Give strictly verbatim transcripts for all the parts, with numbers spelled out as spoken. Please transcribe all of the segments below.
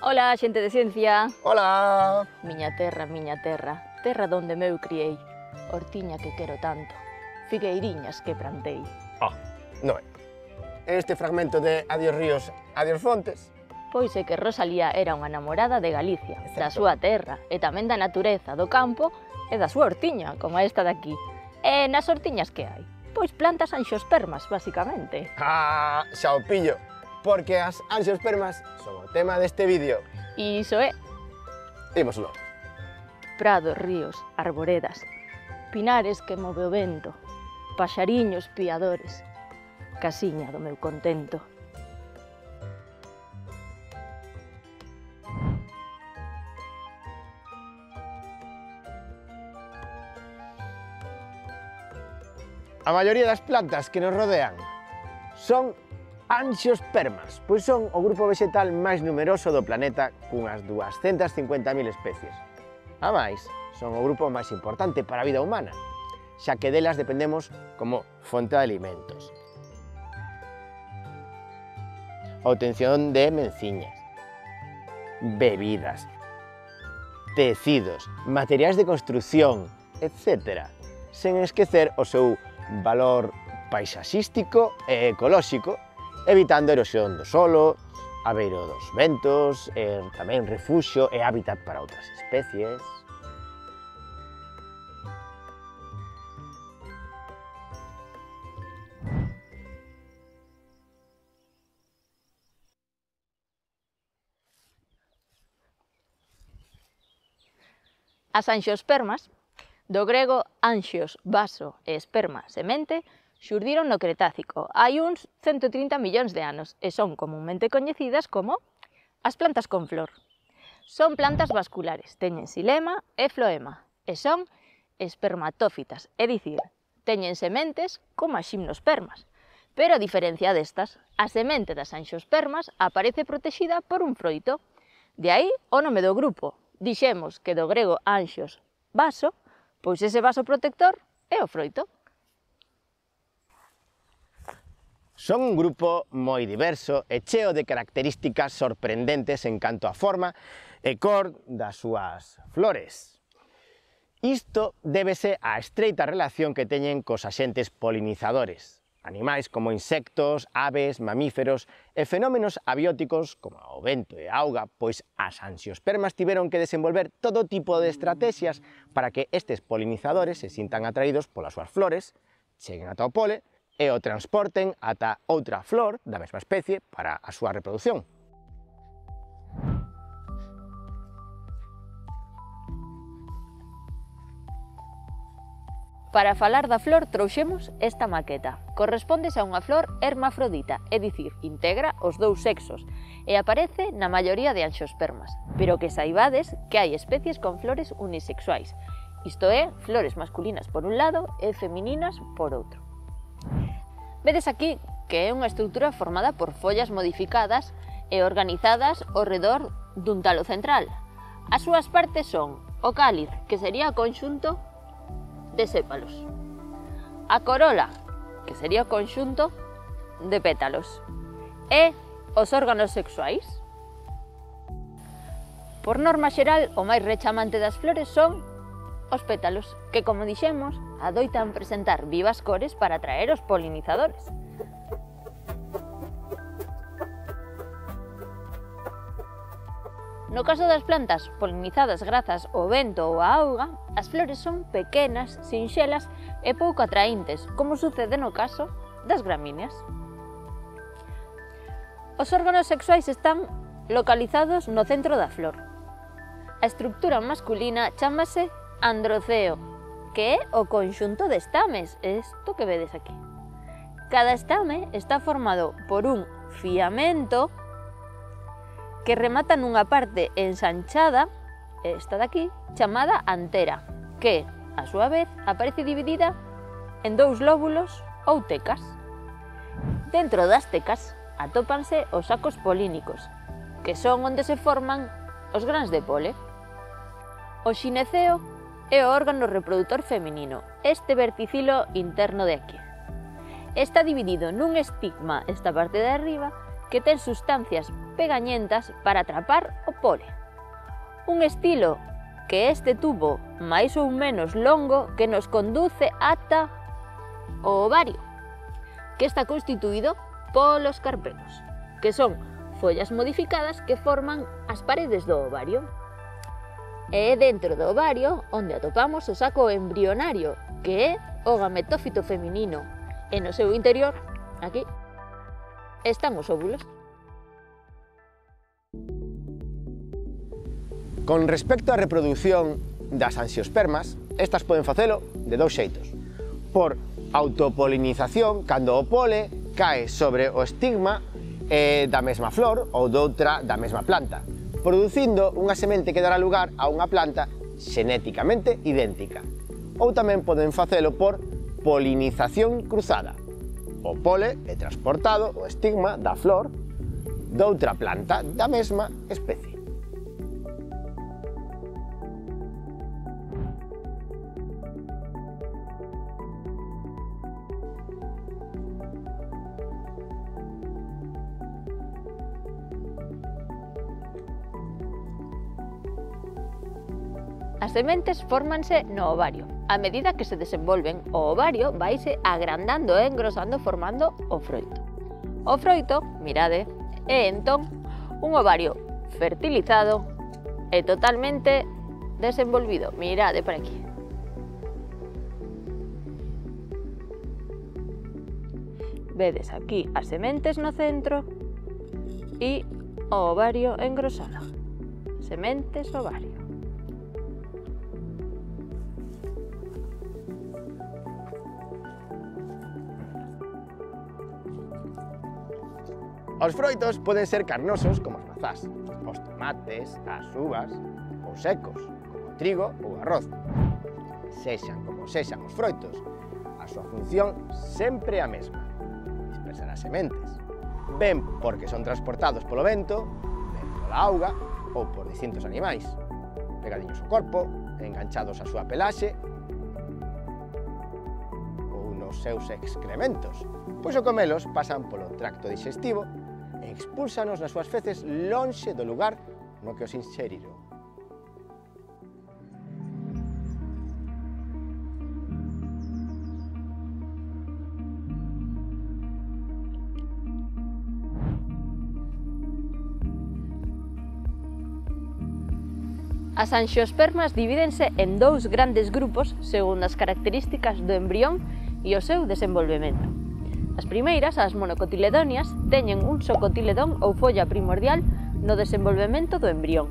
Ola, xente de ciencia. Ola! Miña terra, miña terra, terra donde meu criei, hortiña que quero tanto, figueiriñas que plantei. Ah, non é. Este fragmento de Adiós ríos, adiós fontes. Pois é que Rosalía era unha namorada de Galicia, Exacto. da súa terra, e tamén da natureza, do campo e da súa hortiña, como esta daqui. E nas hortiñas que hai? Pois plantas anxiospermas, basicamente. Ah, xa o pillo, porque as anxiospermas son o tema deste vídeo. E iso é Dímoslo. prados, ríos, arboredas, pinares que move o vento, paxariños piadores, casiña do meu contento. A maioría das plantas que nos rodean son anxiospermas, pois son o grupo vegetal máis numeroso do planeta cunhas duascentas e cincuenta mil especies. A máis, son o grupo máis importante para a vida humana, xa que delas dependemos como fonte de alimentos. A obtención de menciñas, bebidas, tecidos, materiais de construción, etcétera, sen esquecer o seu valor paisaxístico e ecolóxico, evitando a erosión do solo, abeiro dos ventos, e tamén refuxio e hábitat para outras especies. As anxiospermas, do grego anxios, vaso e esperma, semente, xurdiron no Cretácico hai uns cento e trinta millóns de anos e son comunmente coñecidas como as plantas con flor. Son plantas vasculares, teñen xilema e floema e son espermatófitas, é dicir, teñen sementes como as ximnospermas. Pero a diferencia destas, a semente das anxiospermas aparece protexida por un froito. De aí o nome do grupo. Dixemos que do grego anxios, vaso, pois ese vaso protector é o froito. Son un grupo moi diverso e cheo de características sorprendentes en canto a forma e cor das súas flores. Isto débese á estreita relación que teñen cos axentes polinizadores, animais como insectos, aves, mamíferos e fenómenos abióticos como o vento e a auga, pois as anxiospermas tiveron que desenvolver todo tipo de estrategias para que estes polinizadores se sintan atraídos polas súas flores, cheguen ata o pole e o transporten ata outra flor da mesma especie para a súa reproducción. Para falar da flor trouxemos esta maqueta. Correspóndese a unha flor hermafrodita, é dicir, integra os dous sexos e aparece na maioría de anxiospermas, pero que saibades que hai especies con flores unisexuais, isto é, flores masculinas por un lado e femininas por outro. Vedes aquí que é unha estrutura formada por follas modificadas e organizadas ao redor dun talo central. As súas partes son o cáliz, que sería o conxunto de sépalos, a corola, que sería o conxunto de pétalos, e os órganos sexuais. Por norma xeral, o máis rechamante das flores son os pétalos, que, como dixemos, adoitan presentar vivas cores para atraer os polinizadores. No caso das plantas polinizadas grazas ao vento ou á auga, as flores son pequenas, sinxelas e pouco atraíntes, como sucede no caso das gramíneas. Os órganos sexuais están localizados no centro da flor. A estructura masculina chámase androceo, que é o conxunto de estames, isto que vedes aquí. Cada estame está formado por un fiamento que remata nunha parte ensanchada, esta daqui, chamada antera, que, a súa vez, aparece dividida en dous lóbulos ou tecas. Dentro das tecas atópanse os sacos polínicos, que son onde se forman os grans de pole. O xineceo é o órgano reproductor feminino, este verticilo interno de aquí. Está dividido nun estigma, esta parte de arriba, que ten sustancias pegañentas para atrapar o pole. Un estilo que este tubo máis ou menos longo que nos conduce ata o ovario, que está constituído polos carpelos, que son follas modificadas que forman as paredes do ovario. E é dentro do ovario onde atopamos o saco embrionario, que é o gametófito feminino, e no seu interior, aquí, están os óvulos. Con respecto á reproducción das anxiospermas, estas poden facelo de dous xeitos. Por autopolinización, cando o pole cae sobre o estigma eh, da mesma flor ou doutra da mesma planta, producindo unha semente que dará lugar a unha planta xenéticamente idéntica. Ou tamén poden facelo por polinización cruzada. O pole é transportado ao estigma da flor doutra planta da mesma especie. As sementes fórmanse no ovario. A medida que se desenvolven, o ovario vaise agrandando e engrosando formando o froito. O froito, mirade, é entón un ovario fertilizado e totalmente desenvolvido. Mirade por aquí. Vedes aquí as sementes no centro e o ovario engrosado. Sementes, ovario. Os froitos poden ser carnosos como as mazás, os tomates, as uvas, ou secos, como o trigo ou o arroz. Sexan como sexan os froitos, a súa función sempre é a mesma, dispersar as sementes, ben porque son transportados polo vento, ben pola auga ou por distintos animais, pegadiños ao corpo, enganchados á súa pelaxe ou nos seus excrementos, pois ao comelos pasan polo tracto digestivo e expúlsanos nas súas feces lonxe do lugar no que os inseriron. As anxiospermas divídense en dous grandes grupos segundo as características do embrión e o seu desenvolvemento. As primeiras, as monocotiledonias, teñen un só cotiledón ou folla primordial no desenvolvemento do embrión.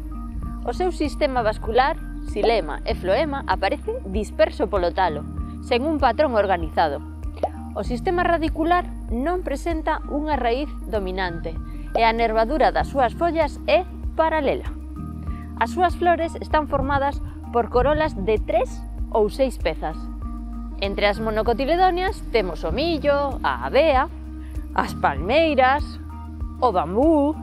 O seu sistema vascular, xilema e floema, aparece disperso polo talo, sen un patrón organizado. O sistema radicular non presenta unha raíz dominante e a nervadura das súas follas é paralela. As súas flores están formadas por corolas de tres ou seis pezas. Entre as monocotiledonias temos o millo, a avea, as palmeiras, o bambú.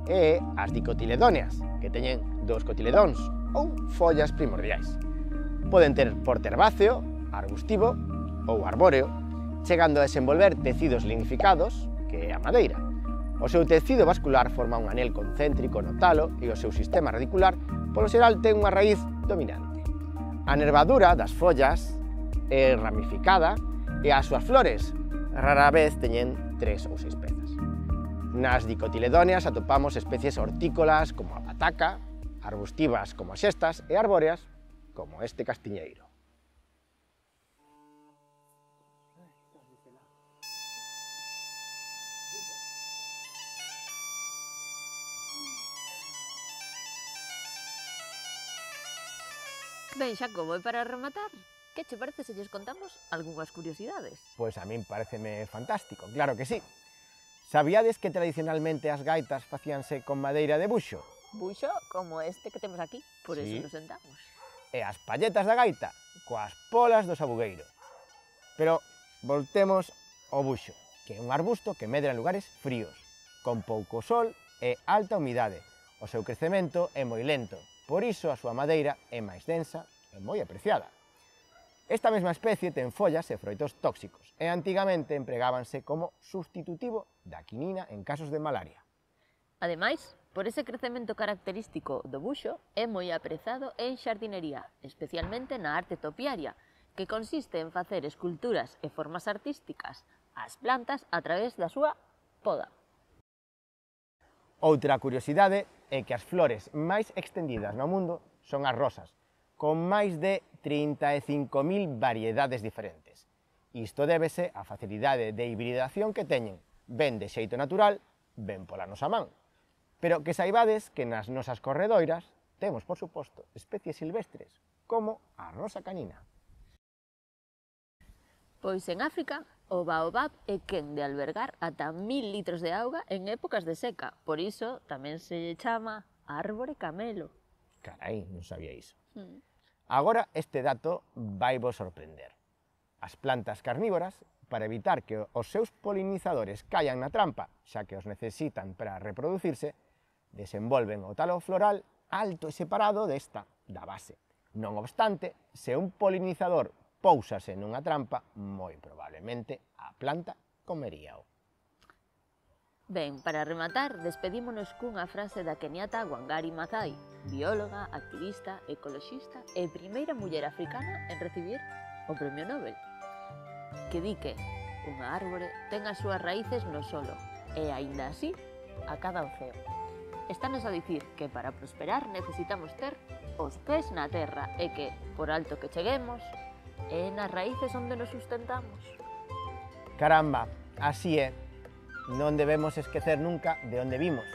E as dicotiledonias, que teñen dous cotiledóns ou follas primordiais. Poden ter porte herbáceo, arbustivo ou arbóreo, chegando a desenvolver tecidos lignificados, que é a madeira. O seu tecido vascular forma un anel concéntrico no talo e o seu sistema radicular, polo xeral, ten unha raíz dominante. A nervadura das follas é ramificada e as súas flores rara vez teñen tres ou seis pezas. Nas dicotiledonias atopamos especies hortícolas como a pataca, arbustivas como as xestas e arbóreas como este castiñeiro. Ben, Xacobo, e para rematar, que che parece se lles contamos algunhas curiosidades? Pois a min pareceme fantástico, claro que sí. Sabíades que tradicionalmente as gaitas facíanse con madeira de buxo? Buxo como este que temos aquí, por Sí. eso nos sentamos. E as palletas da gaita coas polas do sabugueiro. Pero voltemos ao buxo, que é un arbusto que medra en lugares fríos, con pouco sol e alta humidade. O seu crecemento é moi lento, por iso a súa madeira é máis densa e moi apreciada. Esta mesma especie ten follas e froitos tóxicos e antigamente empregábanse como substitutivo da quinina en casos de malaria. Ademais, por ese crecemento característico do buxo, é moi aprezado en xardinería, especialmente na arte topiaria, que consiste en facer esculturas e formas artísticas ás plantas a través da súa poda. Outra curiosidade é que as flores máis extendidas no mundo son as rosas, con máis de trinta e cinco mil variedades diferentes. Isto débese á facilidade de hibridación que teñen, ben de xeito natural, ben pola nosa man. Pero que saibades que nas nosas corredoiras temos, por suposto, especies silvestres, como a rosa canina. Pois en África, o baobab é quen de albergar ata mil litros de auga en épocas de seca, por iso tamén se lle chama árbore camelo. Carai, non sabía iso. Mm. Agora este dato vai vos sorprender. As plantas carnívoras, para evitar que os seus polinizadores caian na trampa, xa que os necesitan para reproducirse, desenvolven o talo floral alto e separado desta, da base. Non obstante, se un polinizador póusase nunha trampa, moi probablemente a planta comeríao. Ben, para rematar, despedímonos cunha frase da keniata Wangari Maathai, bióloga, activista, ecoloxista e primeira muller africana en recibir o Premio Nobel, que di que unha árbore ten as súas raíces no solo e, aínda así, a cada oceo. Estános a dicir que para prosperar necesitamos ter os pés na terra e que, por alto que cheguemos, é nas raíces onde nos sustentamos. Caramba, así é. Non debemos esquecer nunca de onde vimos,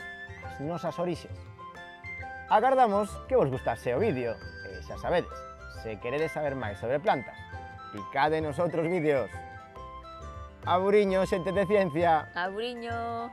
as nosas orixes. Agardamos que vos gustase o vídeo, e xa sabedes, se queredes saber máis sobre plantas, picade nos outros vídeos. Aburiño, xente de ciencia! Aburiño!